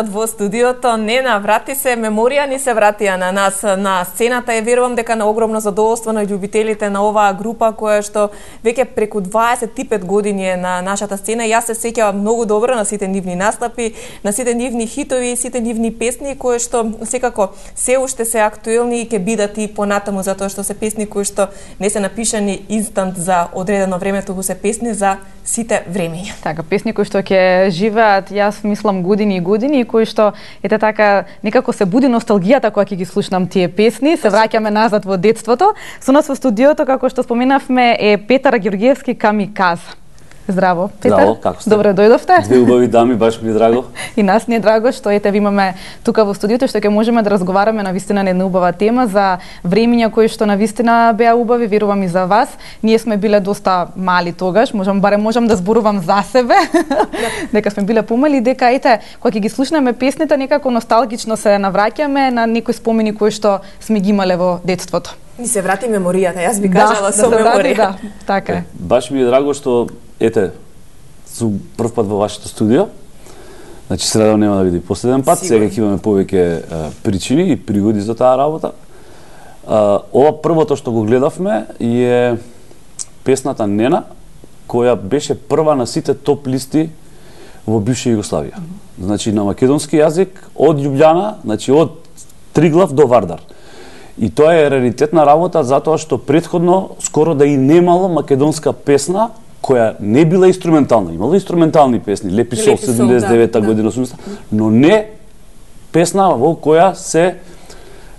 Во студиото Нена, врати се меморија, ни се вратија на нас на сцената. Верувам дека на огромно задоволство на љубителите на оваа група која што веќе преку 25 години е на нашата сцена. Јас се сеќавам многу добро на сите нивни настапи, на сите нивни хитови, сите нивни песни кои што секако се уште се актуелни и ќе бидат и понатаму, затоа што се песни кои што не се напишани инстант за одредено време, туку се песни за сите времења. Така, песни кои што ќе живеат, јас мислам години и години, кои што ете така некако се буди носталгијата кога ќе ги слушнам тие песни, се враќаме назад во детството. Со нас во студиото, како што споменавме, е Петар Ѓорѓевски Камиказ. Здраво, Петар. Здраво, како сте? Добре дојдовте. Две убави дами, баш ми е драго. И нас ни е драго што ете ви имаме тука во студиото, што ќе можеме да разговараме на вистина на една убава тема за времења кои што на вистина беа убави, верувам и за вас. Ние сме биле доста мали тогаш, можам да зборувам за себе. Дека сме биле помали, дека ете кога ќе ги слушнеме песните некако носталгично се навраќаме на некои спомени кои што сме ги имале во детството. Ни се врати меморијата, јас би кажала со меморија. Да, така е. Баш ми е драго што ете сум прв пат во вашето студио. Значи се радам нема да биде последен пат, сега ќе имаме повеќе причини и пригоди за таа работа. Ова првото што го гледавме е песната Нена, која беше прва на сите топ листи во бивша Југославија. Значи на македонски јазик од Љубљана, значи од Триглав до Вардар. И тоа е раритетна работа затоа што претходно скоро да и немало македонска песна која не била инструментална. Имало инструментални песни, Лепи сол 79-та година, 80-та, но не песна во која се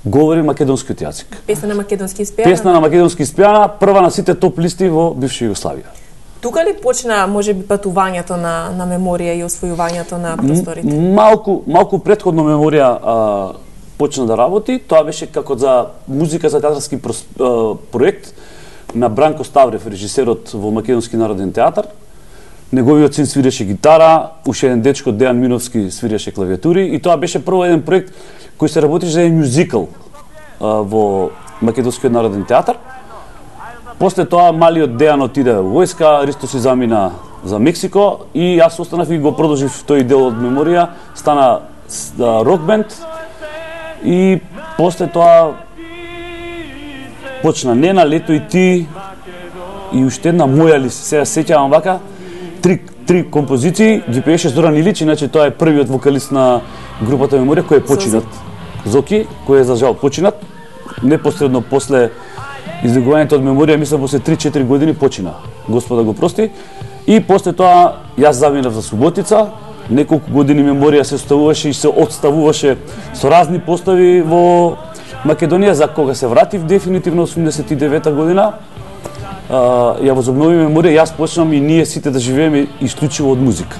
говори македонскиот јазик. Песна на македонски испеана. Песна на македонски испеана, прва на сите топ листи во бивша Југославија. Тука ли почна можеби патувањето на меморија и освојувањето на просторите? Малку претходно меморија почна да работи. Тоа беше како за музика за театарски проект на Бранко Ставрев, режисерот во Македонски народен театар. Неговиот син свиреше гитара, уште еден дечко Дејан Миновски свиреше клавиатури и тоа беше прво еден проект кој се работеше за еден мюзикл во Македонскиот народен театар. После тоа малиот Дејан отиде во војска, Ристо си замина за Мексико и јас останав и го продолжив тој дел од меморија, стана рок бенд. И после тоа почна Нена, Лето и ти и уште една Моја ли, сега сеќавам вака, три композиции ги пееше Зоран Илич, иначе тоа е првиот вокалист на групата Меморија кој е починат. Зоки, кој е за жал починат, непосредно после излегувањето од Меморија, мислам после 3-4 години почина. Господа го прости. И после тоа јас заминав за Суботица. Неколку години Меморија се оставуваше и се отставуваше со разни постави во Македонија, за кога се вратив дефинитивно 89-та година. Ја возобнови Меморија, јас почнам и ние сите да живееме исклучиво од музика,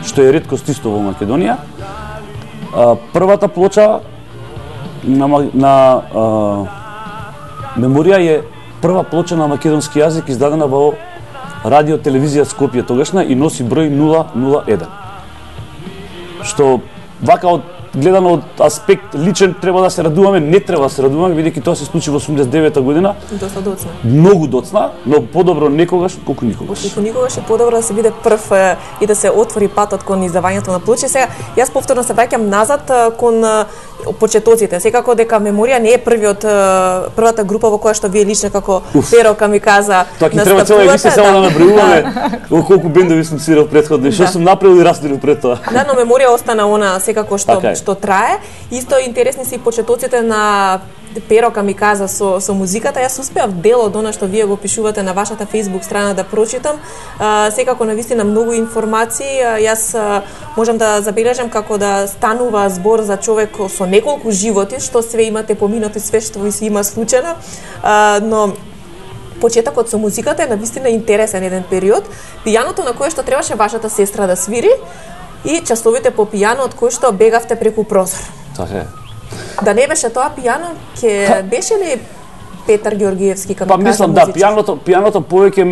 што е реткост исто во Македонија. Првата плоча на Меморија е прва плоча на македонски јазик издадена во радио телевизија Скопје тогашна и носи број 001. Што вака гледано од аспект личен треба да се радуваме, не треба да се радуваме, бидејќи тоа се случи во 89-та година. Доста доцна. Многу доцна, но подобро некогаш колку никогаш. Колку никогаш е подобро да се биде прв и да се отвори патот кон издавањето на плочи. Сега јас повторно се враќам назад кон почетоците. Секако дека Меморија не е првата група во која што вие лично како Перо Камиказа настапувате. Тоа ќе треба цела емисија само да набројуваме во колку бендови сум свирал претходно и што сум направил и раствирил пред тоа. Да, но Меморија остана она секако што трае. Исто интересни се и почетоците на Перо Камиказа со музиката. Јас успеав дел од она што вие го пишувате на вашата Facebook страна да прочитам. Секако навистина многу информации. Јас можам да забележам како да станува збор за човек со неколку животи, што све имате поминати, све што ви се има случено. Но почетокот со музиката е навистина интересен еден период. Пијаното на кое што требаше вашата сестра да свири и часовите по пијано од кои што бегавте преку прозор. Така е. Да не беше тоа пијано, ќе беше ли Петар Ѓорѓевски Камиказ? Па мислам да, пијаното повеќе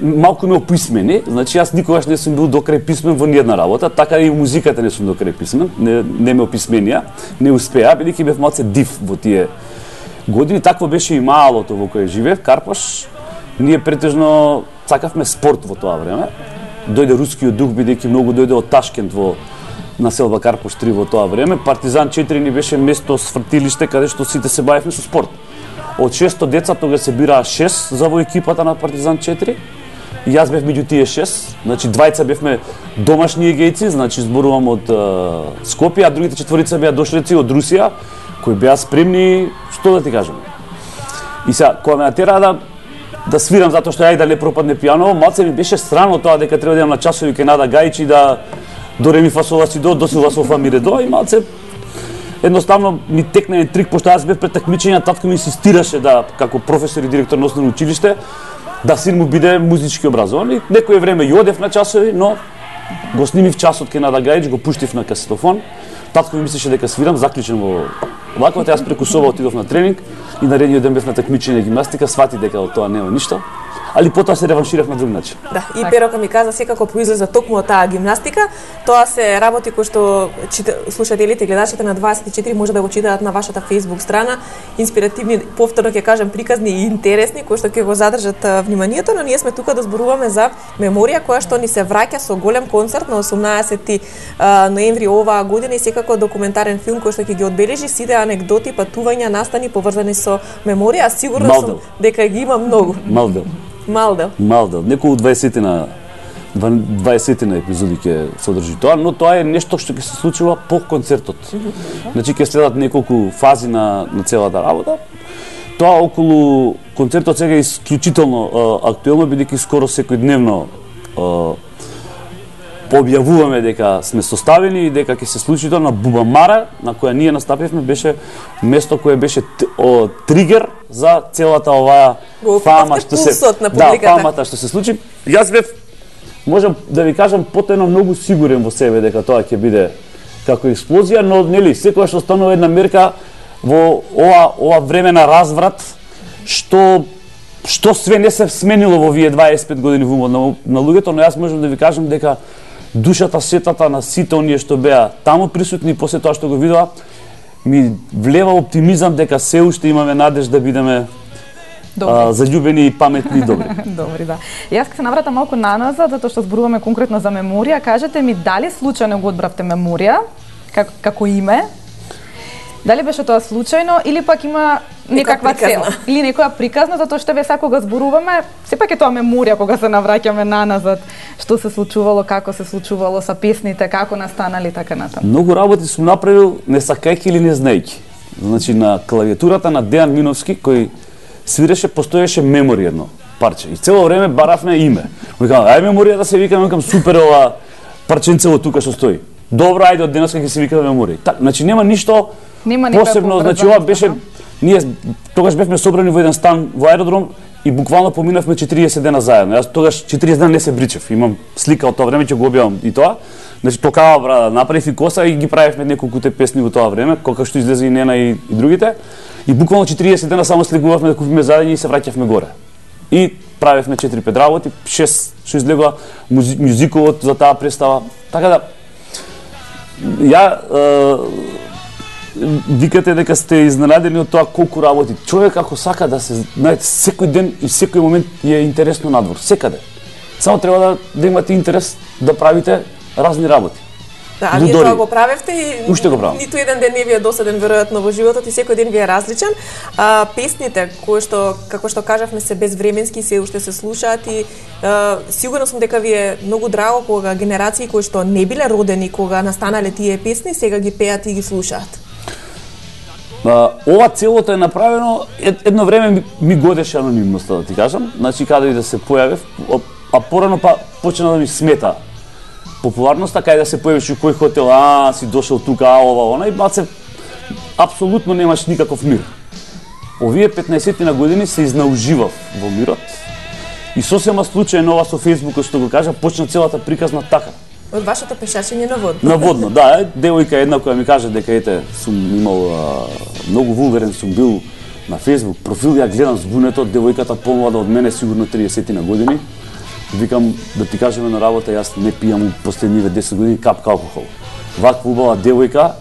малку ме описмени. Значи јас никогаш не сум бил докрај писмен во ниедна работа, така и музиката не сум докрај писмен, не ме описменија, не успеа, бидејќи бев малце див во тие години. Такво беше и малото во кое живеев, Карпаш. Ние претежно сакавме спорт во тоа време. Дојде рускиот дух, бидејќи многу дојде од Ташкент во населба Карпош 3 во тоа време. Партизан 4 ни беше место свртилиште каде што сите се бавевме со спорт. Од 600 деца тога се бираа 6 за во екипата на Партизан 4. И јас бев меѓу тие 6, значи двајца бевме домашни егејци, значи зборувам од Скопје, а другите четворица беа дошлеци од Русија, кои беа спремни, што да ти кажам. И сега, кога ме натера да свирам затоа што ја и да не пропадне пијаново, малце ми беше странно тоа дека треба да идам на часови кај Нада Гајич и да до ре ми фа сол ла си до силва со фа ми ре до, и малце едноставно ми текна еден трик, пошто јас бев пред такмичење, татко ми инсистираше да, како професор и директор на основно училиште, да син му биде музички образован. И некое време ја одев на часови, но го снимив часот кај Нада Гајич, го пуштив на касетофон. Татко ми мислеше дека свирам, заклучен во ваковата, јас преку соба отидов на тренинг и наредниот ден бев на такмичење гимнастика, свати дека од тоа нема ништо. Али потоа се реванширав на друг начин. Да, и Перока ми каза секако произлеза токму од таа гимнастика. Тоа се работи кои што слушателите и гледачите на 24 може да го читаат на вашата Facebook страна. Инспиративни, повторно ќе кажам, приказни и интересни кои што ќе го задржат вниманието, но ние сме тука да зборуваме за меморија која што ни се враќа со голем концерт на 18 ноември оваа година и секако документарен филм кој што ќе ги одбележи сите анегдоти, патувања, настани поврзани со меморија, сигурно сум дека ги има многу. Малдел. Неколку 20 на епизоди ќе содржи тоа, но тоа е нешто што ќе се случува по концертот. Значи ќе следат неколку фази на целата работа. Тоа околу концертот сега е исклучително актуелно, бидејќи скоро секојдневно пообјавуваме дека сме составени и дека ќе се случи тоа. На Бубамара, на која ние настапивме, беше место кое беше тригер за целата оваа фама што се фамата што се случи. Јас бев, можам да ви кажам, потајно многу сигурен во себе дека тоа ќе биде како експлозија, но нели секоја што станува една мерка во ова време на разврат, што све не се сменило во овие 25 години во умот на луѓето, но јас можам да ви кажам дека душата, сетата на сите оние што беа таму присутни после тоа што го видоа, ми влева оптимизам дека се уште имаме надеж да бидеме заљубени и паметни и добри. Добри, да. Јас ќе се навратам малку наназад, затоа што зборуваме конкретно за меморија. Кажете ми, дали случајно го одбравте меморија како име? Дали беше тоа случајно или пак има некаква цел или некоја приказна, затоа што ве кога зборуваме, сепак е тоа меморија кога се навраќаме наназад, што се случувало, како се случувало со песните, како настанали така натаму. Многу работи сум направил не сакајќи или не знаејќи. Значи на клавиатурата на Дејан Миновски кој свиреше, постоеше меморија едно парче и цело време баравме име. Викам, ај меморија да се викам супер ова парченцево тука што стои. Добро, ајде од денеска ќе се викаме меморија. Так, значи нема ништо посебно, значи ова беше, ние тогаш бевме собрани во еден стан во аеродром и буквално поминавме 40 дена заедно. Јас тогаш 40 дена не се бричев. Имам слика од тоа време, ќе го објавам и тоа. Значи токава брада, направив и коса и ги правевме неколкуте песни во тоа време, кога што излезе и Нена и другите. И буквално 40 дена само слегувавме да купиме заедно и се враќавме горе. И правевме 4-5 работи, 6 што излегува музиколот за таа представа. Така да викате дека сте изненадени од тоа колку работи. Човек ако сака да се, знаете, секој ден и секој момент е интересно надвор, секаде. Само треба да имате интерес да правите разни работи. Да, а вие тоа го правевте и уште го правам. Ниту еден ден не ви е досаден веројатно во животот и секој ден ви е различен. Песните кои што, како што кажавме, се безвременски, се уште се слушаат и сигурно сум дека ви е многу драго кога генерации кои што не биле родени кога настанале тие песни, сега ги пеат и ги слушаат. Ова целото е направено, едно време ми годеше анонимноста, да ти кажам. Значи, каде и да се појавев, а порано почна да ми смета популарноста, кај да се појавиш у кој хотел, си дошол тука, ова, она, и баце, апсолутно немаш никаков мир. Овие 15 на години се изнауживав во мирот и сосема случајно ова со Фејсбукот, што го кажа, почна целата приказна така. Од вашето пешачење на водно. На водно, да. Девојка една која ми каже дека ете сум имал многу вулгарен сум бил на Facebook профил, ја гледам збунето, девојката помлада од мене, сигурно 30 на години. Викам да ти кажеме на работа, јас не пијам последниве 10 години капка алкохол. Ваква убава девојка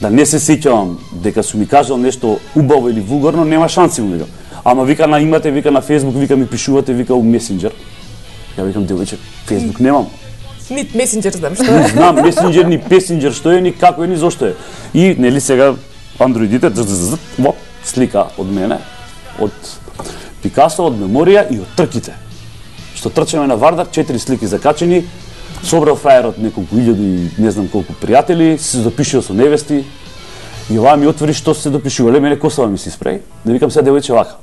да не се сеќавам дека сум ми кажал нешто убаво или вулгарно, нема шанси му викам. Ама вика на имате, вика на Facebook, вика ми пишувате, вика у месенџер. Ја викам девојче, Facebook немам. Ни месенџер знам што е. Знам месенџер, ни песенџер што е, ни како е, ни зошто е. И нели сега андроидите слика од мене, од Пикасо, од меморија и од трките. Што трчаме на Вардар, 4 слики закачени, собрал фраерот неколку илјади и не знам колку пријатели, се допишува со невести. И ова ми отвори што се допишувале, мене косава ми се испреј. Да викам сега девојче вака.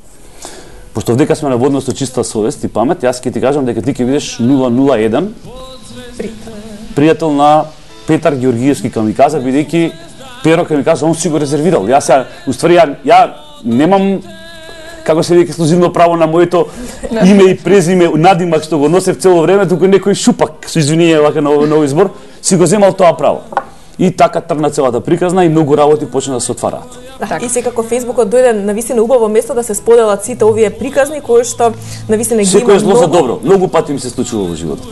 Пошто вдека сме на водно со чиста совест и памет, јас ќе ти кажам дека ти ќе видиш 001 пријател на Петар Георгиевски Камиказа, бидејќи Перо Камиказа он си го резервирал. Јас уствари ја немам како се вика ексклузивно право на моето име и презиме, надимак што го носев цело време, туку некој шупак со извинение вака на овој избор си го земал тоа право. И така тргна целата приказна и многу работи почна да се отвараат. И секако Фејсбукот дојде на вистина убаво место да се споделат сите овие приказни кои што на вистина ги има многу. Секој е зло за добро. Многу пати ми се случува во животот.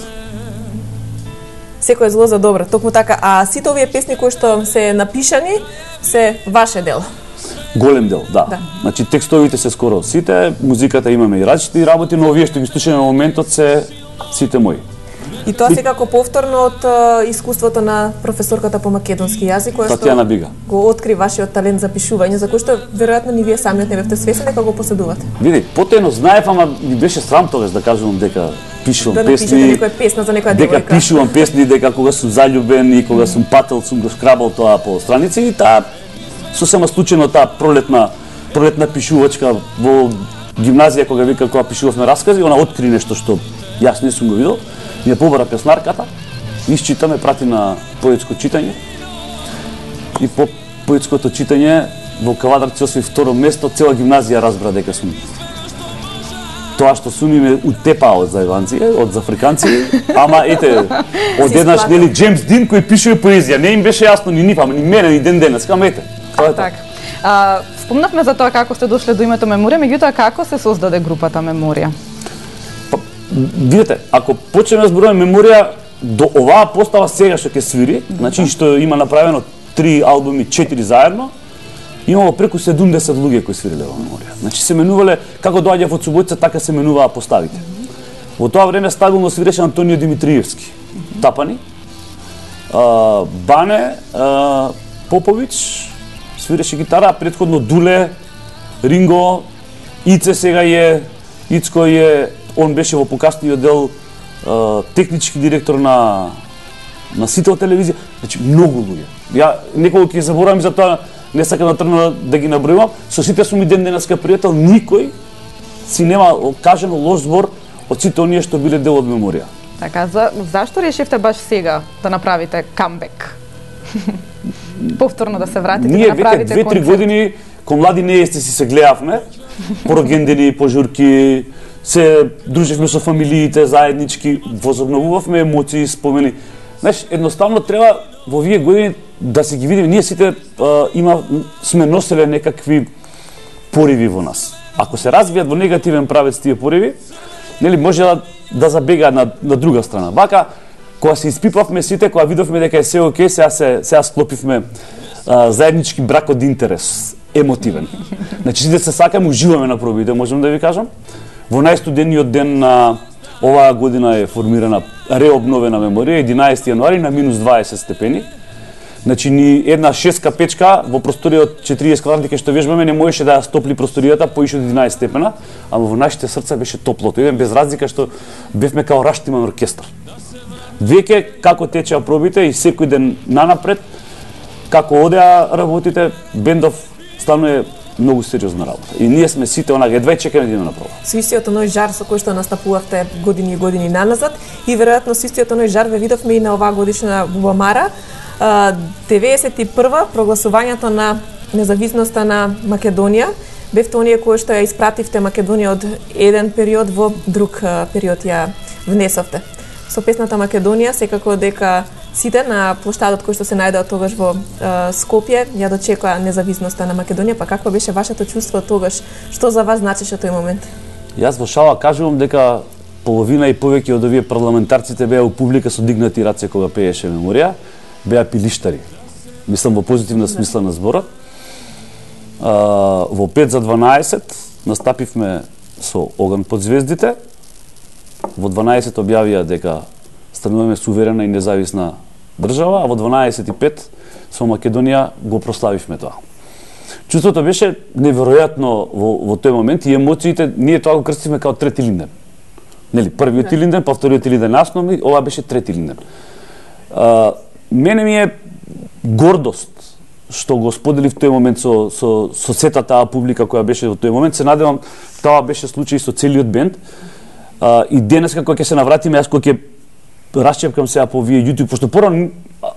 Секој е зло за добро, токму така. А сите овие песни кои што се напишани се ваше дело. Голем дел, да. Значи текстовите се скоро сите, музиката имаме и различни работи, но овие што ги слушаме на моментот се сите мои. И тоа секако повторно од искуството на професорката по македонски јазик, која што го откри вашиот талент за пишување, за кој што веројатно ни вие самиот не бевте свесни дека го поседувате. Види, потајно знаев, ама ми беше срам тогаш да кажувам дека пишувам песни, некоја песна за некоја дека пишувам песни, дека кога сум заљубен и кога сум пател сум го шкрабал тоа по страници и таа сосема случајно таа пролетна пишувачка во гимназија кога пишувавме раскази, она откри нешто што јас не сум го видел. Ја побара песнарката, исчитаме, прати на поетско читање. И по поетското читање во Кавадар се освои второ место, цела гимназија разбра дека сум. Тоа што сум ме утепаа од зајванци, од зафриканци, ама ете, од еднаш нели Джеймс Дин кој пишува поезија, не им беше јасно ни нив, ама ни мене ни ден денес, ама ете. Тоа е така. Спомнавме за тоа како сте дошле до името Меморија, меѓутоа како се создаде групата Меморија? Видете, ако почнеме да зборуваме Меморија, до оваа постава сега што ќе свири, значи што има направено 3 албуми, 4 заедно, имало преку 70 луѓе кои свириле во Меморија. Значи се менувале, како доаѓа во Цубојца, така се менуваа поставите. Во тоа време стабилно свиреше Антонио Димитриевски, Тапани, Бане, Попович, свиреше гитара, претходно Дуле, Ринго, Ице сега е, Ицко е, он беше во покасниот дел технички директор на Сител телевизија, значи многу луѓе. Ја неколку ќе заборавам за тоа, не сакам да тргнам да ги набројувам, со сите сум и ден денеска пријател, никој си нема кажано лош збор од сите оние што биле дел од Меморија. Така, зашто решивте баш сега да направите камбек? Повторно да се вратите, да направите концерт? Ние веќе 2-3 години кон млади неести си се гледавме, по рогендени, по журки, се дружевме со фамилиите заеднички, возобновувавме емоции, спомени. Знаеш, едноставно треба во овие години да се ги видиме, ние сите сме носеле некакви пориви во нас. Ако се развијат во негативен правец тие пориви, нели може да забегаат на друга страна. Вака, кога се испипавме сите, кога видовме дека е се окей, сега склопивме заеднички брак од интерес, емотивен. Значи сите се сакаме, уживаме на пробите, можам да ви кажам. Во најстудениот ден на оваа година е формирана реобновена Меморија, 11 јануари на минус 20 степени. Значи ни една 6-ка печка во просторија од 40 квадратни што вежбаме не можеше да стопли просторијата поише од 11 степена, ама во нашите срца беше топлото. Еден без разлика што бевме као Раштиман оркестар. Веќе како течеа пробите и секој ден нанапред, како одеа работите, бендов стану е многу сериозна работа. И ние сме сите онака едва чекаме да идеме на проба. Со истиот оној жар со кој што настапувавте години и години наназад и веројатно со истиот оној жар ве видовме и на оваа годишна Бубамара. 91 прогласувањето на независноста на Македонија. Бевте оние кои што ја испративте Македонија од еден период во друг период ја внесовте. Со песната Македонија секако дека сите на плоштадот кој што се најдеа тогаш во Скопје ја дочекаа независноста на Македонија, па какво беше вашето чувство тогаш? Што за вас значеше тој момент? Јас во шала кажувам дека половина и повеќе од овие парламентарците беа у публика со дигнати раце кога пееше Меморија, беа пилиштари. Мислам во позитивна смисла на зборот. Во 5 за 12 настапивме со Оган под звездите. Во 12 објавија дека стануваме суверена и независна држава, а во 12:05 со Македонија го прославивме тоа. Чувството беше неверојатно во тој момент и емоциите, ние тоа го крстивме као трети Илинден. Нели, првиот Илинден, па вториот Илинден основни, ова беше трети Илинден. Мене ми е гордост што го споделив тој момент со сета таа публика која беше во тој момент. Се надевам тоа беше случај со целиот бенд. И денеска кога ќе се навратиме, јас кога ќе расчепкам сега по овие YouTube, пошто порано,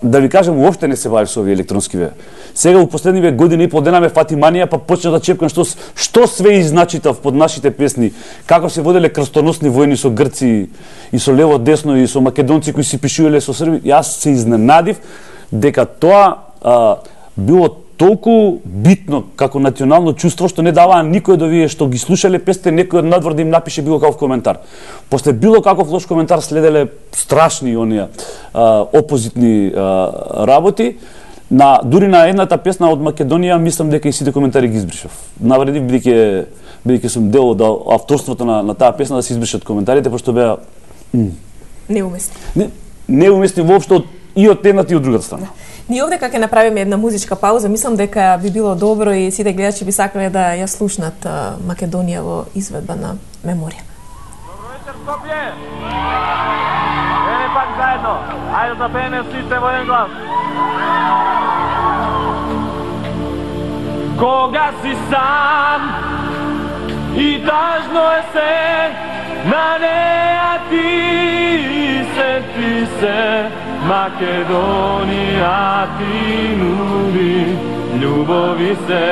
да ви кажам, уопште не се бавив со овие електронски. Сега во последниве години и пол дена ме фати манија, па почна да чепкам што све изначитав под нашите песни, како се воделе крстоносни војни со грци и со лево десно и со македонци кои си пишувале со срби. Јас се изненадив дека тоа било толку битно како национално чувство што не даваа никој од овие што ги слушале песните, некој од надвор да им напише било каков коментар. После било каков лош коментар следеле страшни оние опозитни работи. Дури на едната песна од Македонија, мислам дека и сите коментари ги избришав. Навредив бидејќи сум дел од авторството на таа песна да се избришат коментарите, пошто беа неуместни. Неуместни воопшто и од едната и од другата страна. Ние овде кога ќе направиме една музичка пауза, мислам дека би било добро и сите гледачи би сакале да ја слушнат Македонија во изведба на Меморија. Добро вечер, Скопје! Еве пак заедно. Ајде да пееме сите во еден глас. Кога си сам и тажно е се, на неа ти се, Македонија ти нуди љубови се.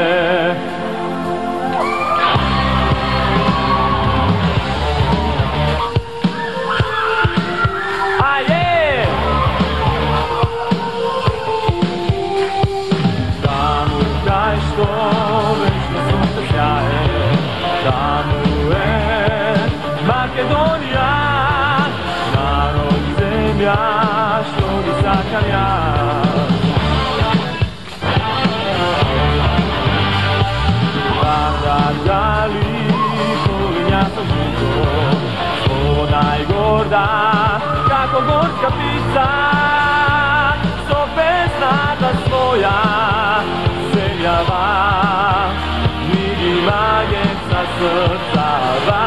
Таму кај што вечно сонце сјае, таму е Македонија, народ земја што ги сакам јас. Дали полиња со живот, со најгорда, како горска пица, со песната своја се јава, ми ги магеца срцава.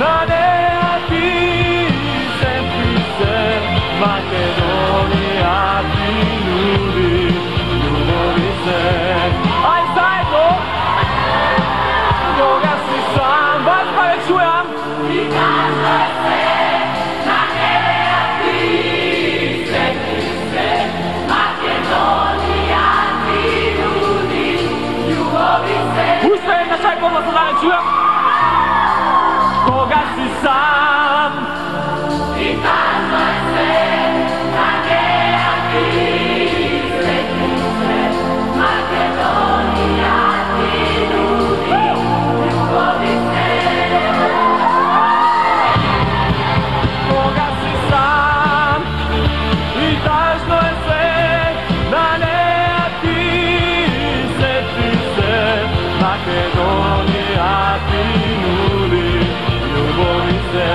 Na neati чујам. Кога си сам и тажно е се, на неа ти свети се, Македонија ти нуди љубови се. Кога си сам и тажно е се, на неа ти свети се, Македонија ти нуди љубови се.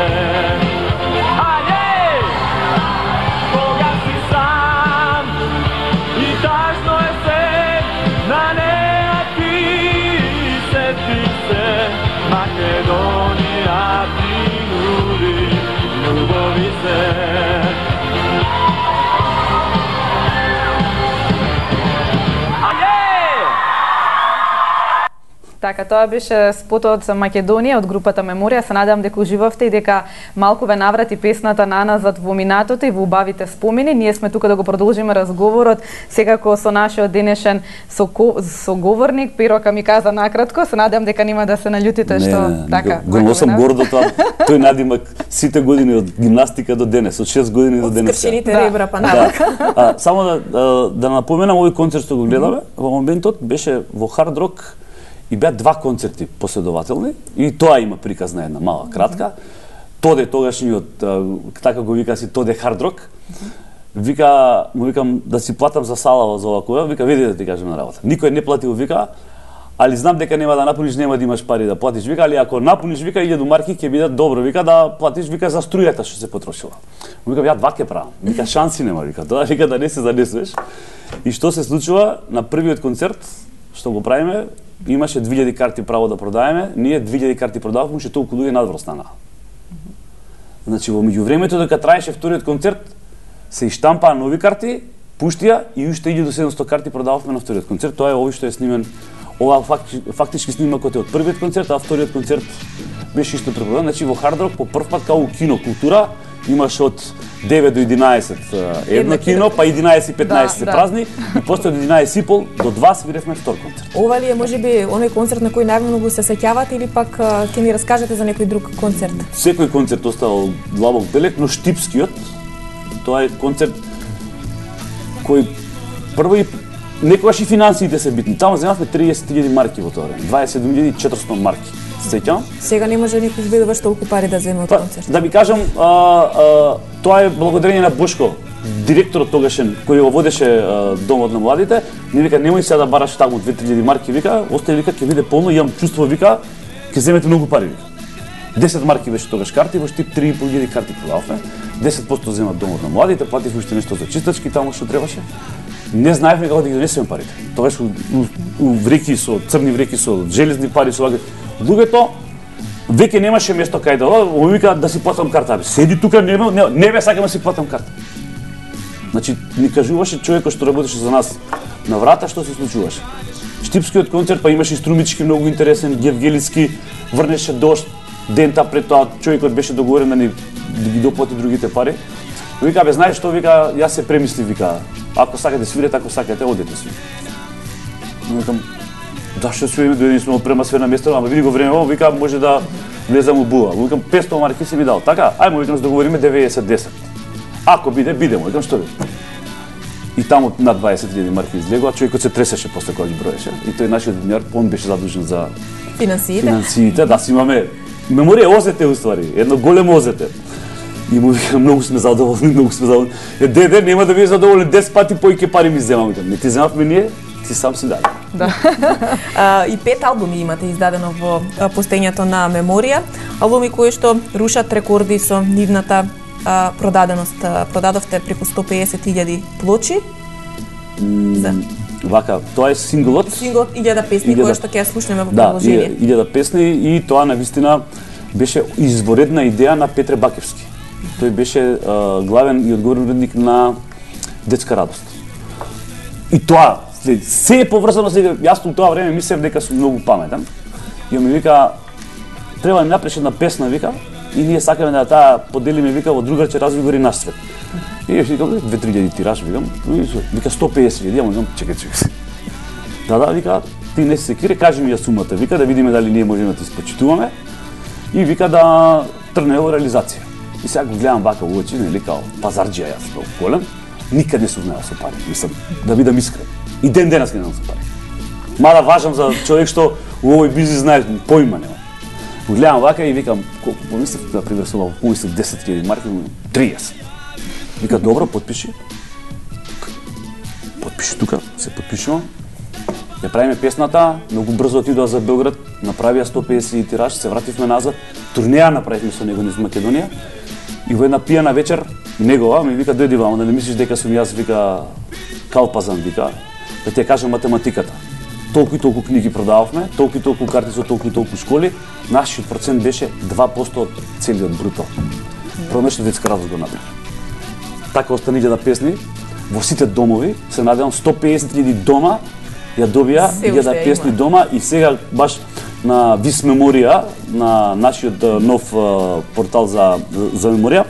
Кога си сам и тажно е се, на неа ти сети се, Македонија ти нуди љубови се. Така, тоа беше спотот за Македонија од групата Меморија. Се надевам дека уживавте и дека малку ве наврати песната на назад во минатото и во убавите спомени. Ние сме тука да го продолжиме разговорот, секако со нашиот денешен соговорник Перо Камиказа накратко. Се надевам дека нема да се наљутите што така. Го носам гордо тоа. Тој надимак сите години од гимнастика до денес, од 6 години до денес. Скршените ребра па навак. Само да напоменам овој концерт што го гледаме, во моментот беше во Хард Рок и беа 2 концерти последователни и тоа има приказ на една мала кратка. Тоде тогашниот, така го вика си Тоде Хард Рок, му викам да си платам за сала за оваа, вика види да ти кажем на работа. Никој не платил, вика, али знам дека нема да напуниш, нема да имаш пари да платиш, вика, али ако напуниш, вика 1000 марки ќе биде добро, вика да платиш, вика за струјата што се потрошила. Му викам ја 2 ќе правам, вика шанси нема, вика, тоа вика да не се занесеш. И што се случува на првиот концерт што го правиме, имаше 2000 карти право да продаеме, ние 2000 карти продававме, уште толку луѓе надвор станаа. Значи во меѓувремето дека траеше вториот концерт, се иштампаа нови карти, пуштија и уште 1700 карти продававме на вториот концерт. Тоа е овој што е снимен, ова фактички снимакот е од првиот концерт, а вториот концерт беше исто препродаден. Значи во Хард Рок по прв пат као кино култура имаш од 9 до 11 едно кино, па 11 и 15 се празни, и после од 11 и пол до 2 свиревме втор концерт. Ова ли е можеби оној концерт на кој најмногу се сеќавате или пак ќе ни раскажете за некој друг концерт? Секој концерт оставал длабок белег, но Штипскиот, тоа е концерт кој прво и некогаш и финансиите се битни. Таму земавме 30.000 марки во тоа време, 27.400 марки. Сеќавам? Сега не може никој збеде баш толку пари да земе од концерт. Да ви кажам, тоа е благодарение на Бошко, директорот тогашен кој го водеше домот на младите. Не вика немој сега да бараш таму 2-3.000 марки, вика, остави, вика, ќе биде полно, имам чувство, вика, ќе земете многу пари, вика. 10 марки беше тогаш карти, во Штип 3.500 карти продававме. 10% земат домот на младите, плативме уште нешто за чистачки таму што требаше. Не знаевме како да ги донесеме парите. Тогаш у вреки со црни вреки со железни пари со луѓето веќе немаше место кај да му вика да си платам карта. Седи тука, не бе сакам да си платам карта. Значи ни кажуваше човекот што работеше за нас на врата што се случуваше. Штипскиот концерт па имаше струмички многу интересен, Гевгелиски врнеше дожд, дента пред тоа човекот беше договорен да ги доплати другите пари. Вика бе знаеш што, вика јас се премисли, вика ако сакате свирете, ако сакате одете си. Викам зашто свириме, дојдени сме од према све на место, ама види го време, вика може да влезам у була. Викам 500 марки си ми дал. Така, ајмо викам да договориме 90-10. Ако биде, бидемо. Викам што биде. И таму над 20.000 марки излегува, човекот се тресеше после кога ги броеше. И тој нашиот денар, он беше задужен за финансиите. Да, си имаме Меморија озете уствари, едно големо озете. И му викам многу сме задоволни, Деде, нема да биде задоволен 10 пати поиќе пари ми земам. Не ти земавме ние, ти сам си даде. Да. И 5 албуми имате издадено во постоењето на Меморија, албуми кои што рушат рекорди со нивната продаденост. Продадовте преку 150.000 плочи. Вака, тоа е синглот. Синглот 1000 песни кои што ќе ја слушнеме во продолжение. Да, 1000 песни и тоа навистина беше изворедна идеја на Петре Бакевски. Тој беше главен и одговорен уредник на Детска радост. И тоа се е поврзано со јас во тоа време мислев дека сум многу паметен. И ми вика треба да напишеш една песна, вика, и ние сакаме да таа поделиме, вика, во другарче разговори наш свет. И ја викам 2-3 тираж, викам 150.000, ама чекај. Да, вика, ти не се секире, кажи ми ја сумата, вика да видиме дали ние можеме да ти испочитуваме и вика да тргне во реализација. И сега го гледам вака во очи, нели као пазарџија јас многу голем, никад не сум знаел со пари, мислам, да бидам искрен. И ден денес не знам со пари. Мада важам за човек што у овој бизнис знаеш, поима нема. Го гледам вака и викам, колку помислив да привесувам, помислив 10.000 марки, 30. Вика, добро, потпиши. Потпиши тука, се потпишувам. Ја правиме песната, многу брзо отидоа за Белград, направија 150 тираж, се вративме назад, турнеја направивме со него низ Македонија. И во една пијана вечер, негова ми вика, дојди вамо, да не мислиш дека сум јас, вика, Калпазан, вика, да ти ја кажам математиката. Толку и толку книги продававме, толку и толку карти со толку и толку школи, нашиот процент беше 2% од целиот бруто. Промешно детска радост го направи. Така остани да песни, во сите домови, се надевам 150.000 дома ја добија да песни дома и сега баш на Вис Меморија, на нашиот нов портал за меморија,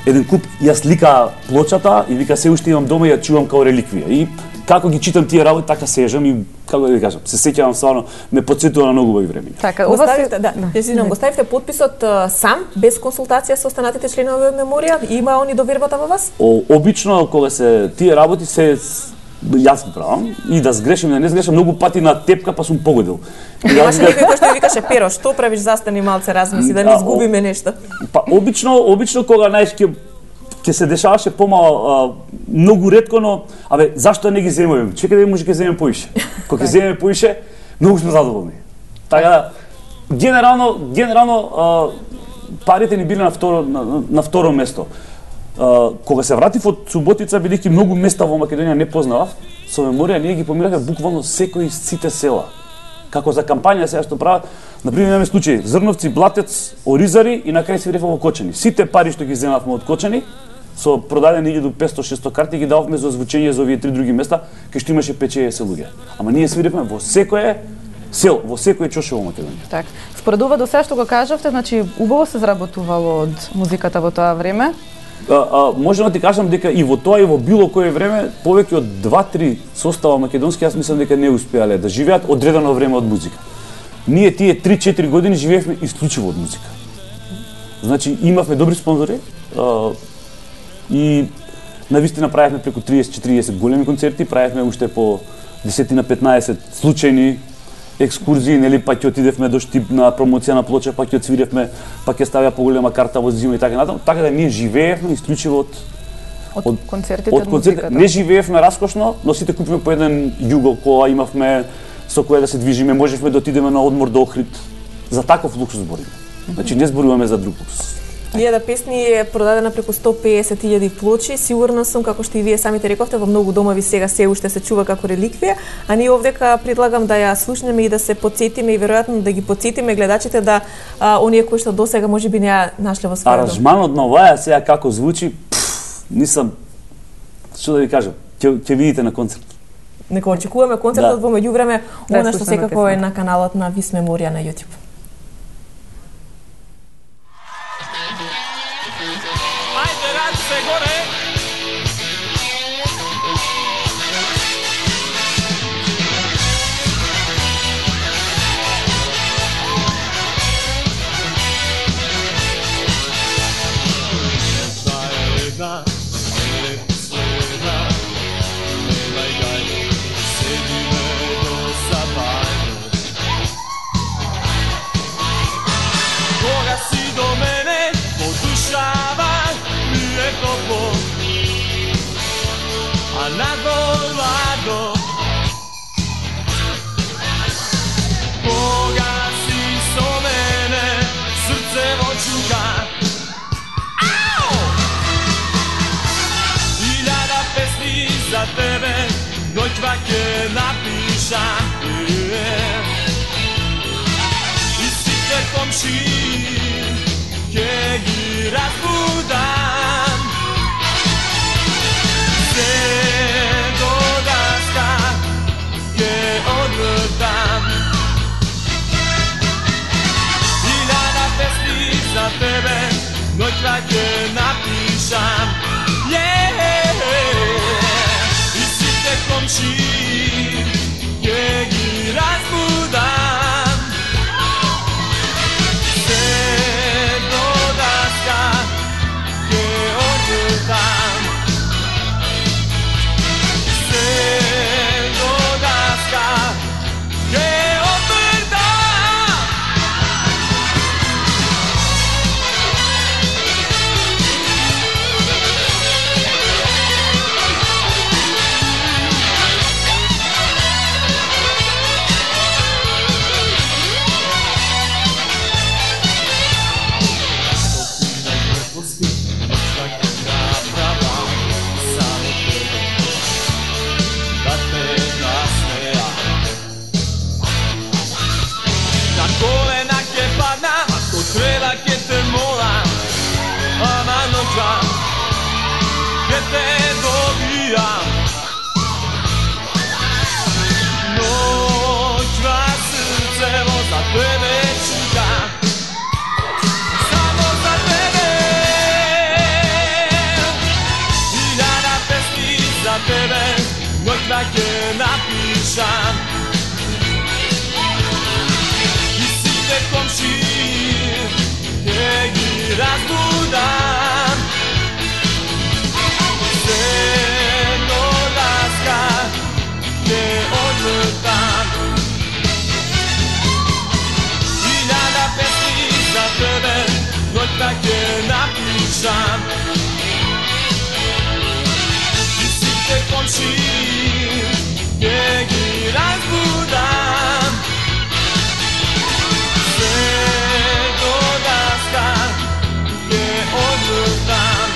еден куп ја слика плочата и вика се уште имам дома и ја чувам као реликвија. И како ги читам тие работи, така сежам и како да ви кажам, се сеќавам стварно, ме потсетува на многу убави времиња. Така, го ставивте подписот сам, без консултација со останатите членови од меморија? Има они довербата во вас? Обично кога се тие работи се јас ги правам и да сгрешим, да не сгрешам, многу пати на тепка па сум погодил. Имаше некој кој што викаше Перо, што правиш, застани малце, размисли да не изгубиме нешто. Па обично кога знаеш ќе се дешаваше помало, многу ретко, но зашто не ги земеме? Чекај да може ќе земеме поише. Кога ќе земеме поише, многу сме задоволни. Така генерално парите ни биле на второ место. Кога се вратив од Суботица, бидејќи многу места во Македонија не познавав, со меморија ние ги помирахме буквално секој сите села. Како за кампања сега што прават, например имаме случаи Зрновци, Блатец, Оризари и на крај се врефа во Кочани. Сите пари што ги земавме од Кочани, со продадени 1500-600 карти ги дававме за озвучење за овие три други места, кај што имаше 5-6 луѓе. Ама ние свиревме во секое сел, во секој чоше во Македонија. Так. Според ова до сега што го кажавте, значи убаво се заработувало од музиката во тоа време? Можам да ти кажам дека и во тоа и во било кое време повеќе од 2-3 состава македонски, јас мислам дека не успеале да живеат одредено време од музика. Ние тие 3-4 години живеевме исклучиво од музика. Значи имавме добри спонзори и навистина правевме преку 30-40 големи концерти, правевме уште по 10-15 случајни екскурзии, нели, па ќе отидевме до Штип на промоција на плоча, па ќе отсвиревме, па ќе ставија поголема карта во зима и така натаму. Така да ние живеевме исклучиво од концертите од музиката. Не живеевме раскошно, но сите купиме по еден југол кола, имавме со која да се движиме, можевме да отидеме на одмор до Охрид. За таков луксус збориме. Значи не зборуваме за друг луксус. Илјада песни е продадена преку 150.000 плочи, сигурна сум, како што и вие самите рековте, во многу домови сега се уште се чува како реликвија, а ние овдека предлагам да ја слушнеме и да се потсетиме и веројатно да ги потсетиме гледачите да оние кои што досега можеби не ја нашле во својот дом. Аранжманот на оваа сега како звучи, нисам, што да ви кажам, ќе видите на концерт. Нека очекуваме концертот во меѓувреме, она што секако е на каналот на Вис Меморија на YouTube. Noćva ќе napišam и сите комши ќе ги разбудам. Се до даска ќе одвртам. Илјада песни за тебе noćva ќе напишам. Комши ќе ги разбудам. čekam, gdje te dobijam. Noćna srce za tebe čekam, samo za tebe. Hiljada pesmi za tebe, noćna ke napišam. I site komšije, gdje gi razbudam. Seno laska, gdje odvrtam. Hiljada pesmi za tebe, noćna ke napišam. I site komšije, gdje gi razbudam. Seno laska, gdje odvrtam.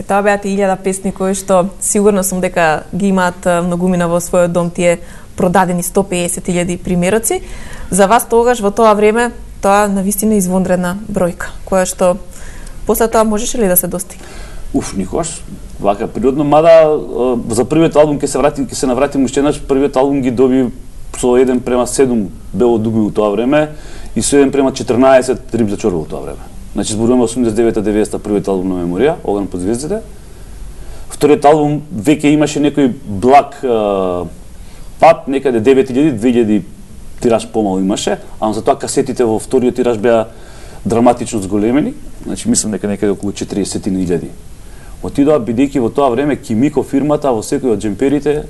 Тоа беа 1000 песни кои што сигурно сум дека ги имаат многумина во својот дом, тие продадени 150.000 примероци. За вас тогаш во тоа време тоа навистина извонредна бројка, која што после тоа можеше ли да се достигне? Никогаш вака природно, мада за првиот албум ќе се навратим уште еднаш, првиот албум ги доби со 1:7 Бело дуби во тоа време и со 1:14 Риб за чорба во тоа време. Значи зборуваме 89-90 првиот албум на Меморија, Оган под звездите. Вториот албум веќе имаше некој благ пат, некаде 9000-2000 тираж помало имаше, ама за тоа касетите во вториот тираж беа драматично зголемени, значи мислам дека некаде околу 40.000. Отидоа бидејќи во тоа време Кимико фирмата во секој од джемперите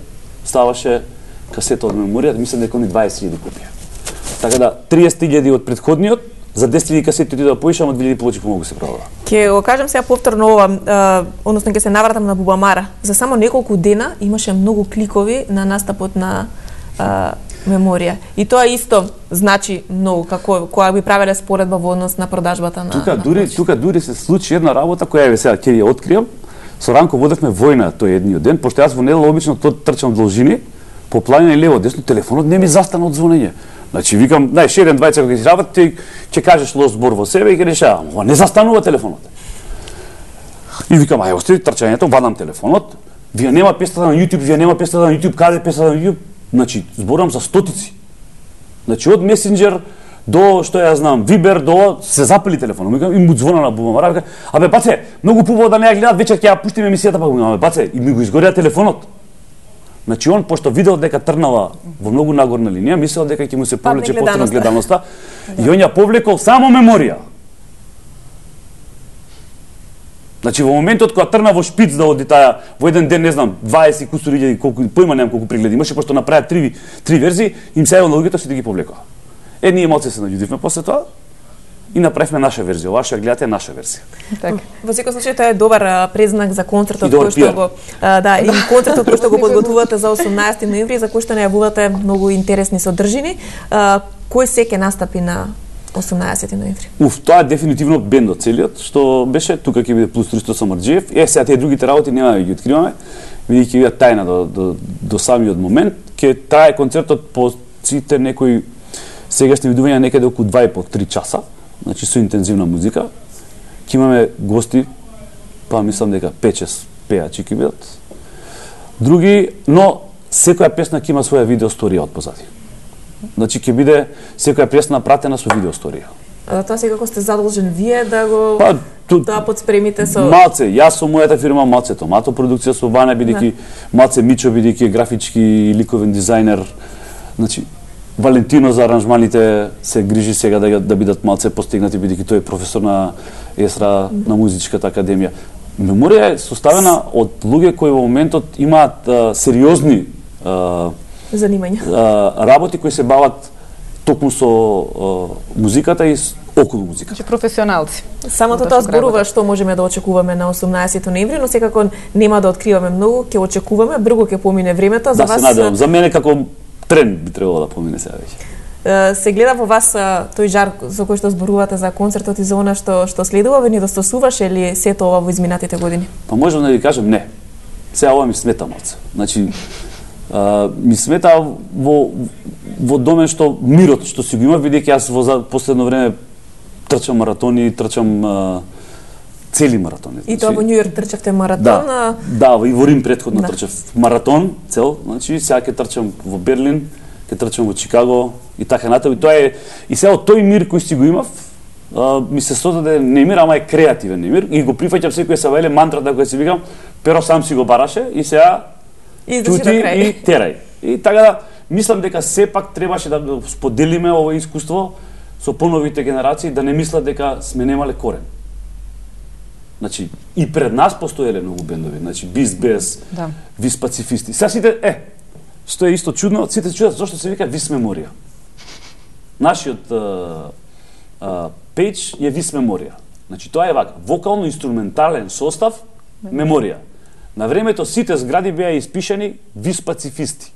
ставаше касета од Меморија, мислам дека они 20.000 копија. Така да 30.000 од претходниот, за 10.000 касети отидоа поише, ама 2.000 повеќе помогу се продава. Ќе го кажам сега повторно ова, односно ќе се навратам на Бубамара. За само неколку дена имаше многу кликови на настапот на Меморија. И тоа исто значи многу, како кога би правеле споредба во однос на продажбата на Тука дури се случи една работа која сега ќе ја откриам. Со Ранко водевме војна тој едниот ден, пошто јас во недела обично трчам должини, по планина лево десно, телефонот не ми застана од звонење. Значи викам, знаеш, еден двајца кога ќе работи, ти ќе кажеш лош збор во себе и ќе решавам. Ова не застанува телефонот. И викам, ај остави трчањето, вадам телефонот. Вие нема песната на YouTube, вие нема песната на YouTube, каде песната на YouTube? Значи, зборам за стотици. Значи од Месенџер до што ја знам, Вибер до се запали телефонот. Викам и му звона на Бубамара, викам, абе баце, многу побаво да не ја гледат, вечер ќе ја пуштиме емисијата, па викам, абе баце, и ми го изгорија телефонот. Значи он пошто видел дека трнава во многу нагорна линија, мислел дека ќе му се повлече повторно гледаноста и он ја повлекол само Меморија. Значи во моментот кога трна во шпиц да оди таа во еден ден, не знам, 20 кусури илјади, колку поима немам колку прегледи имаше, пошто направи три верзии, им се јавил на луѓето сите ги повлекоа. Ние малце се наљудивме после тоа и направивме наша верзија. Ова што ја гледате е наша верзија. Така. Во секој случај тоа е добар презнак за концертот кој што го и концертот кој што го подготвувате за 18 ноември, за кој што најавувате многу интересни содржини. Кој се ќе настапи на 18 ноември? Тоа е дефинитивно бендот целиот, што беше тука ќе биде плюс Ристо Самарџиев. Сега тие другите работи нема да ги откриваме, бидејќи ќе бидат тајна до самиот момент. Ќе трае концертот по сите некои сегашни видувања некаде околу 2,5-3 часа. Значи со интензивна музика. Ќе имаме гости, па мислам дека 5-6 пеачи ќе бидат. Други, но секоја песна ќе има своја видеосторија од позади. Значи ќе биде секоја песна пратена со видеосторија. За тоа секако сте задолжен вие да го тоа подспремите со малце, јас со мојата фирма Малце Томато продукција со Ваня, бидејќи Малце Мичо бидејќи графички и ликовен дизајнер. Значи Валентино за аранжманите се грижи сега да бидат малце постигнати, бидејќи тој е професор на ЕСРА на музичката академија. Меморија е составена од луѓе кои во моментот имаат сериозни занимања. Работи кои се бават токму со музиката и околу музиката. Значи професионалци. Самото тоа зборува што можеме да очекуваме на 18 ноември, но секако нема да откриваме многу, ќе очекуваме, брзо ќе помине времето. За вас се надевам, за мене како тренд би требало да помине сега веќе. Се гледа во вас тој жар со кој што зборувате за концертот и за она што следува, ве недостасуваше ли сето ова во изминатите години? Па можам да ви кажам не. Сега ова ми смета малце. Значи, ми смета во домен што мирот што си го има, бидејќи јас во последно време трчам маратони, трчам цели маратони. И тоа во Њу Јорк трчавте маратон? Да, и во Рим претходно трчав маратон цел, значи сега ќе трчам во Берлин, ќе трчам во Чикаго и така натаму. И тоа е и сега тој мир кој си го имав, ми се создаде немир, ама е креативен немир и го прифаќам секој се веле мантрата која си викам, Перо сам си го бараше и сега чути и терај. И така да мислам дека сепак требаше да споделиме ова искуство со поновите генерации, да не мислат дека сме немале корен. Значи, и пред нас постоеле многу бендови, значи Beast Bass, Вис Пацифисти. Сега сите, што е исто чудно, сите чудат зашто се вика Вис Меморија. Нашиот пејдж е Вис Меморија. Значи, тоа е вака, вокално-инструментален состав, меморија. На времето сите згради беа испишани Вис Пацифисти,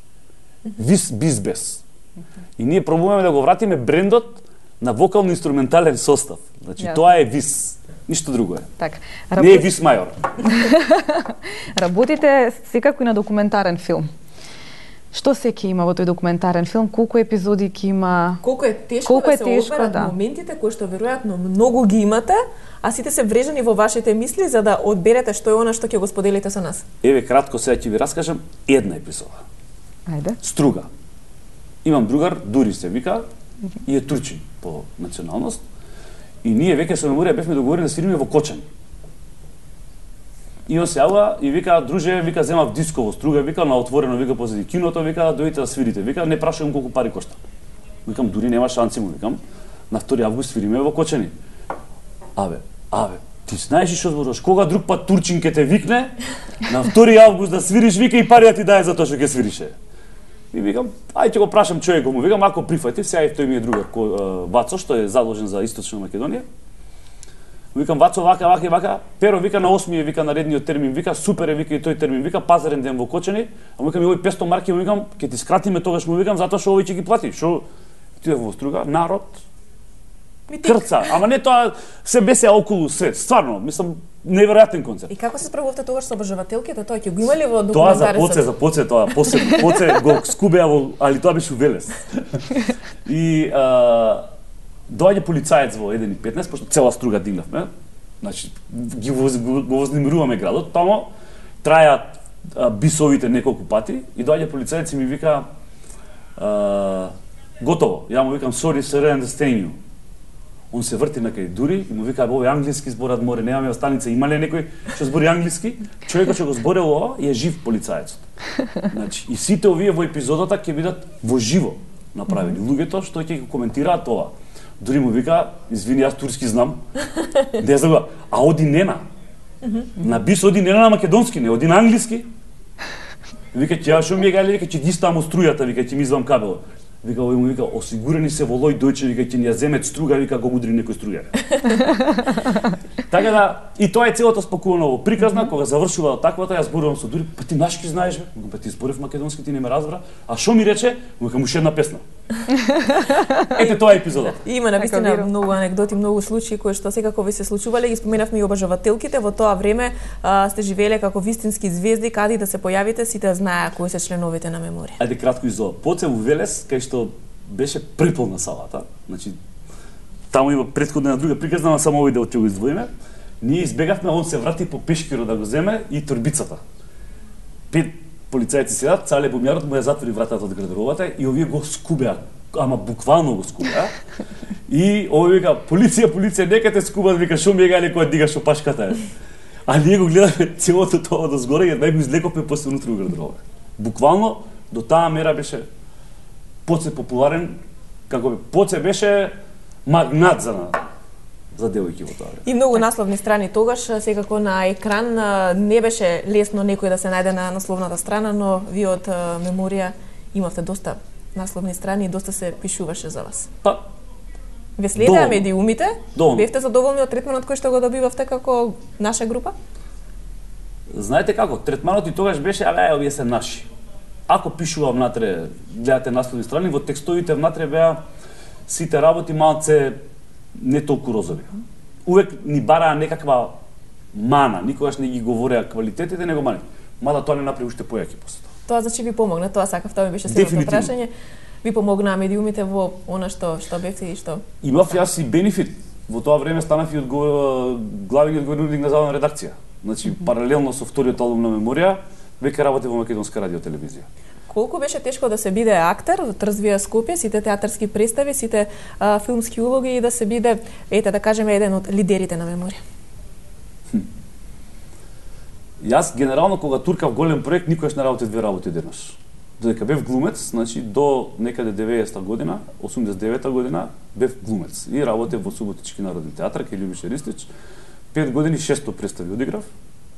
Вис Beast Bass. И ние пробуваме да го вратиме брендот на вокално-инструментален состав. Значи, тоа е Вис. Ништо друго е. Так. Не е Вис Мајор. Работите секако и на документарен филм. Што се ќе има во тој документарен филм? Колку епизоди ќе има? Колку е тешко да се одберат моментите кои што веројатно многу ги имате, а сите се врежани во вашите мисли за да одберете што е она што ќе го споделите со нас? Еве кратко сега ќе ви раскажам една епизода. Ајде. Струга. Имам другар, Дури се вика, и е турчин по националност. И ние веќе со Меморија бевме договорени да свириме во Кочани. И он се јавува и вика, друже, вика, земав диско во Струга, вика, на отворено, вика, позади киното, вика, дојдете да свирите, вика, не прашувам колку пари кошта. Викам, дури нема шанси му, викам, на 2 август свириме во Кочани. Абе, ти знаеш што зборуваш, кога друг пат турчин ке те викне, на 2 август да свириш, вика, и пари да ти даде за тоа што ќе свирише. И викам, ајде ќе го прашам човекот му, викам, ако прифати, сега и тој ми е другар, Вацо, што е задолжен за Источна Македонија. Викам, Вацо, вака, Перо, вика, на 8 вика, наредниот термин, вика, супер е, вика, и тој термин, вика, пазарен ден во Кочани, а му викам, и овој 500 марки, му викам, ќе ти скратиме тогаш, му викам, затоа што овој ќе ги плати, што ти е во Струга, народ, крца, ама не тоа, се бесеа околу се, стварно, мислам, неверојатен концерт. И како се справувавте тогаш со обожавателките, тоа ќе го имали во документарисот? Тоа за поце тоа, поце го скубеа во, али тоа беше Велес. И доаѓа полицаец во 1:15, пошто цела Струга дигнавме. Значи го вознемируваме градот, тамо трајаат бисовите неколку пати и доаѓа полицаец и ми вика готово. Ја му викам sorry sir, I understand you. Он се врти на кај Дури и му вика овој англиски зборат море, немаме останица, има ли некој што збори англиски? Човекот што го зборел ова е жив полицаецот. Значи и сите овие во епизодата ќе бидат во живо направени. Луѓето што ќе го коментираат ова. Дури му вика, извини, јас турски знам. Не знам, а оди Нена. На бис оди Нена на македонски, не оди на англиски. Вика, ќе што ми е гајле, вика, ќе ги ставам струјата, вика, ќе ми извам кабелот. Вика, овој му вика, осигурени се во Лој Дојче, вика, ќе ни ја земет Струга, вика, го удри некој струјар. Така да, и тоа е целото спакувано во приказна, кога завршува таквата, јас зборувам со Дури, па ти нашки знаеш, бе? Па ти зборев македонски, ти не ме разбра. А што ми рече? Му вика, муш една песна. Ете тоа е епизодата. Има навистина многу анегдоти, многу случаи кои што секако ви се случувале, ги споменавме и обожавателките. Во тоа време сте живееле како вистински звезди, каде да се појавите, сите знаеа кои се членовите на Меморија. Ајде кратко изо. Поце во Велес, кај што беше преполна салата. Значи таму има претходна една друга приказна, но само овој дел ќе го издвоиме. Ние избегавме, он се врати по пешкиро да го земе и торбицата. 5 полицајци седат, цале бумјарот му ја затвори вратата од гардеробата и овие го скубеа, ама буквално го скубеа. И овој вика, полиција, нека те скубат, вика, шо ми е гајле која дигаш опашката е. А ние го гледаме целото тоа до згоре и нај го излековме после внутри во гардеробата. Буквално до таа мера беше Поце популарен, како би Поце беше магнат за девојки во тоа време. И многу насловни страни тогаш, секако на екран не беше лесно некој да се најде на насловната страна, но вие од Меморија имавте доста насловни страни и доста се пишуваше за вас. Па, ве следеа медиумите? Доволно. Бевте задоволни од третманот кој што го добивавте како наша група? Знаете како, третманот и тогаш беше, овие се наши. Ако пишува внатре, гледате насловни страни, во текстовите внатре беа сите работи малце не толку розови. Увек ни бараа некаква мана, никогаш не ги говореа квалитетите, него мани. мада тоа не направи уште појаки после тоа. Тоа значи ви помогна, тоа сакав, тоа ми беше следното прашање. Ви помогнаа медиумите во она што бевте и што? Имав јас и бенефит. Во тоа време станав и главен одговорник на забавна редакција. Значи, паралелно со вториот албум на Меморија, веќе работев во Македонска радио телевизија. Колку беше тешко да се биде актер во Трзвија Скопје, сите театарски представи, сите филмски улоги и да се биде, да кажеме, еден од лидерите на Меморија? Јас генерално кога туркав голем проект никогаш не работев две работи денаш. Додека бев глумец, значи до некаде 90-та година, 89-та година бев глумец и работев во Суботички народен театар кај Љубиша Ристич. 5 години 600 представи одиграв.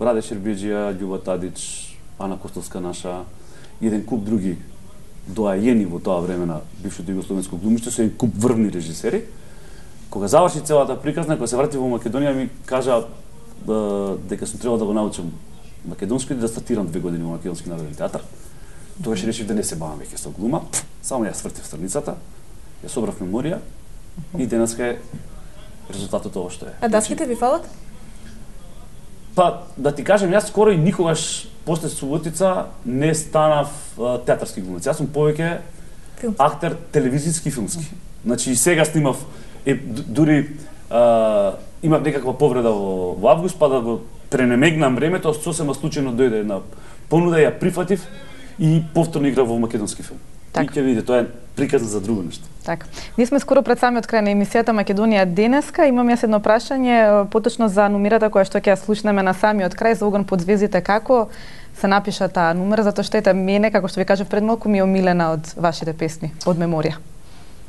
Раде Шербеџија, Љуба Тадич, Ана Костовска наша, еден куп други доајени во тоа време на бившето југословенско глумиште со еден куп врвни режисери. Кога заврши целата приказна, кога се вратив во Македонија ми кажа дека сум требал да го научам македонски и да стартирам 2 години во Македонски народен театар. Тогаш решив да не се бавам веќе со глума, само ја свртив страницата, ја собрав Меморија и денеска е резултатот ова што е. А даските ви фалат? Па, да ти кажем, јас скоро и никогаш после Суботица не станав театарски глумец. Јас сум повеќе актер телевизиски и филмски. Значи и сега снимав, дури имав некаква повреда во август, па да го пренемегнам времето, сосема случајно дојде една понуда, ја прифатив и повторно играв во македонски филм. И ќе видите, тоа е приказна за друго нешто. Така. Ние сме скоро пред самиот крај на емисијата Македонија денеска. Имам јас едно прашање, поточно за номерата која што ќе ја слушнеме на самиот крај за Оган под звездите. Како се напиша таа номера, затоа што ете мене, како што ви кажав пред малку, ми е омилена од вашите песни, од Меморија.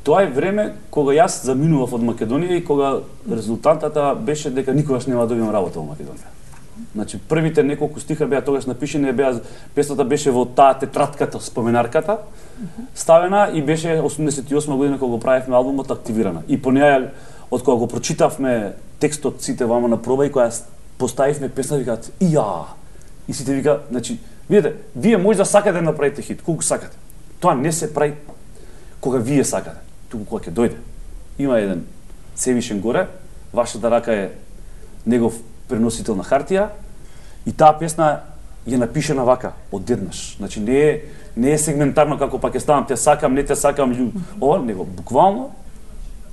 Тоа е време кога јас заминував од Македонија и кога резултатата беше дека никогаш нема да добиам работа во Македонија. Значи првите неколку стиха беа тогаш напишени, песната беше во таа тетратката, споменарката, ставена и беше 88 година кога го правевме албумот активирана. И по неја од кога го прочитавме текстот сите вама на проба и кога поставивме песната викаат и сите вика, значи видите, вие може да сакате да направите хит, колку сакате. Тоа не се прави кога вие сакате, туку кога ќе дојде. Има еден Севишен горе, вашата рака е негов преносител на хартија и таа песна е напишена вака, одеднаш. Значи не е сегментарно како па ќе ставам те сакам, не те сакам, ова, него буквално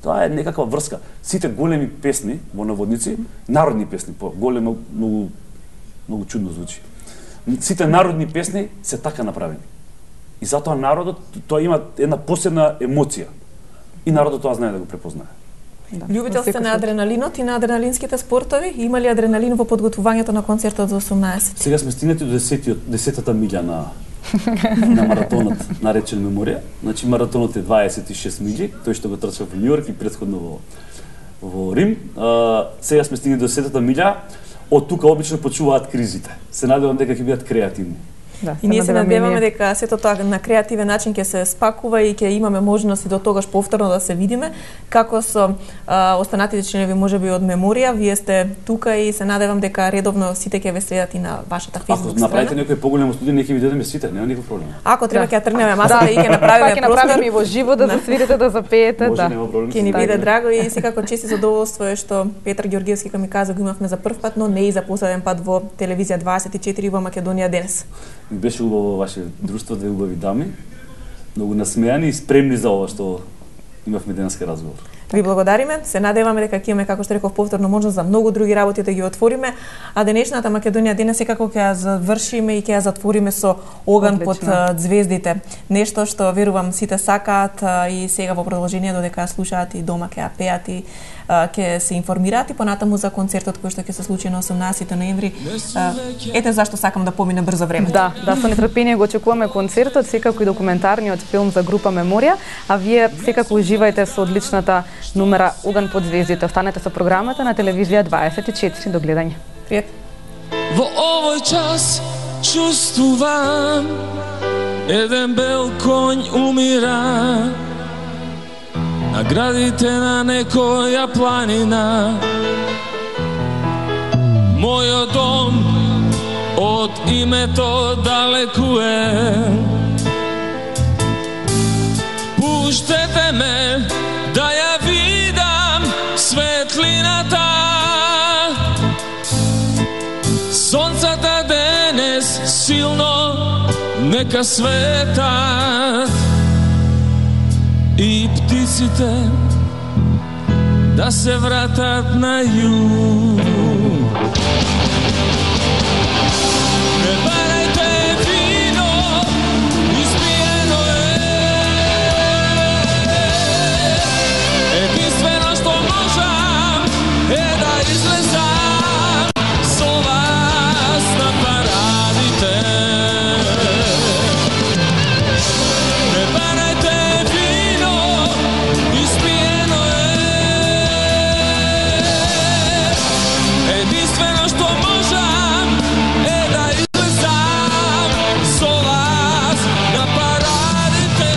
тоа е некаква врска. Сите големи песни во наводници, народни песни, големо многу чудно звучи. Сите народни песни се така направени. И затоа народот тоа има една посебна емоција. И народот тоа знае да го препознае. Да. Љубител сте на адреналинот и на адреналинските спортови. Има ли адреналин во подготвувањето на концертот за 18? Сега сме стигнати до 10-та милја на маратонот наречен Меморија. Значи маратонот е 26 милји, тој што го трчав во Њујорк и претходно во Рим. Сега сме стигнати до 10-та милја. Од тука обично почуваат кризите. Се надевам дека ќе бидат креативни. Да, и ние се надеваме дека сето тоа на креативен начин ќе се спакува и ќе имаме можност и до тогаш повторно да се видиме како со останатите членови можеби од Меморија. Вие сте тука и се надевам дека редовно сите ќе ве следат и на вашата Facebook страна. Ако направите некој поголемо студија, нека ви дадеме сите, нема никаков проблем. Ако треба ќе ја тргнеме масата и ќе направиме простор. Ќе направиме и во живо да свирите, да запеете, да. Ќе ни биде драго и секако чест и задоволство е што Петар Ѓоргиевски ми каза го имавме за прв пат, но не и за последен пат во телевизија 24 во Македонија денес. Ми беше убаво ваше друштво, две убави дами, многу насмеани и спремни за ова што имавме денеска разговор. Ви благодариме, се надеваме дека ќе имаме, како што реков, повторно можност за многу други работи да ги отвориме, а денешната Македонија денес секако ќе ја завршиме и ќе ја затвориме со Оган под звездите. Нешто што верувам сите сакаат и сега во продолжение додека слушаат и дома ќе ја пеат и ќе се информираат и понатаму за концертот кој што ќе се случи на 18 ноември. Ете зашто сакам да помине брзо време. Да, со нетрпение го очекуваме концертот, секако и документарниот филм за група Меморија, а вие секако уживајте со одличната номера Оган под звездите. Останете со програмата на телевизија 24. До гледање. Пријат. Во овој час чувствувам еден бел конј умира на градите на некоја планина. Мојот дом од името далеку е. Пуштете ме да ја видам светлината. Сонцата денес си нека светат и птиците да се вратат на југ. Не барајте вино, испиено единствено што можам е да излезам со вас на парадите. Не барајте вино, испиено единствено што можам е да излезам со вас на парадите.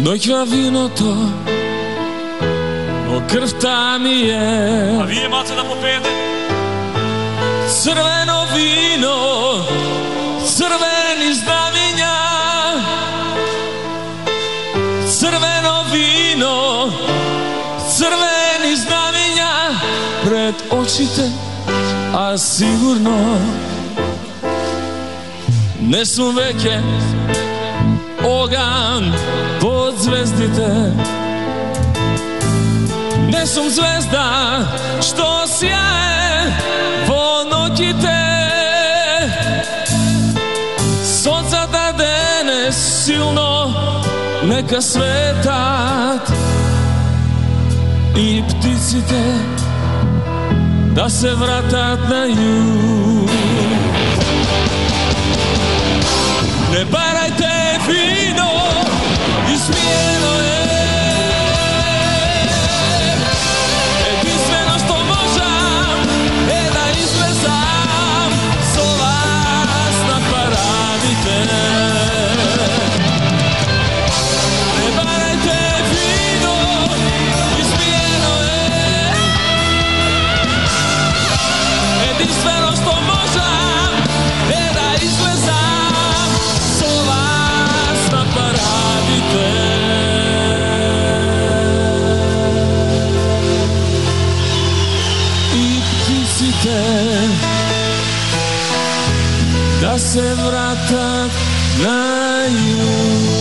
Дојќа виното, но крвта ми е. А вие маце да попеете? Црвено вино, црвени знамиња. Црвено вино, црвени знамиња пред очите, а сигурно не сум веќе оган под звездите. Не сум звезда што сјае во ноќите. Сонцата денес силно нека светат и птиците да се вратат на југ. Не барајте вино, испиено единствено што можам е да излезам со вас на парадите. Не барајте вино, испиено единствено што можам е да излезам со вас на парадите. И птиците да се вратат на југ.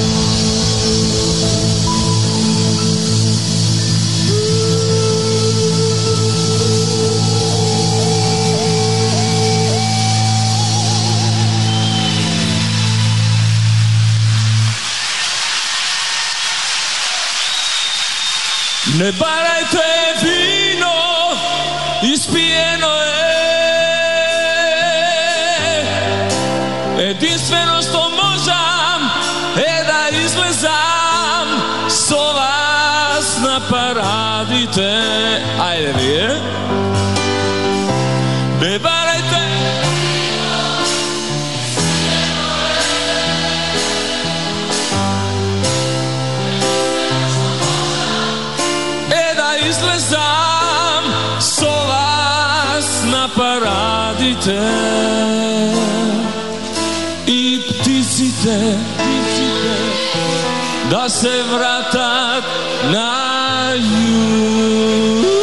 Не барајте вино, испиено единствено што можам е да излезам со вас на парадите. Ајде вие. Не барајте излезам со вас на парадите. И птиците да се вратат на југ.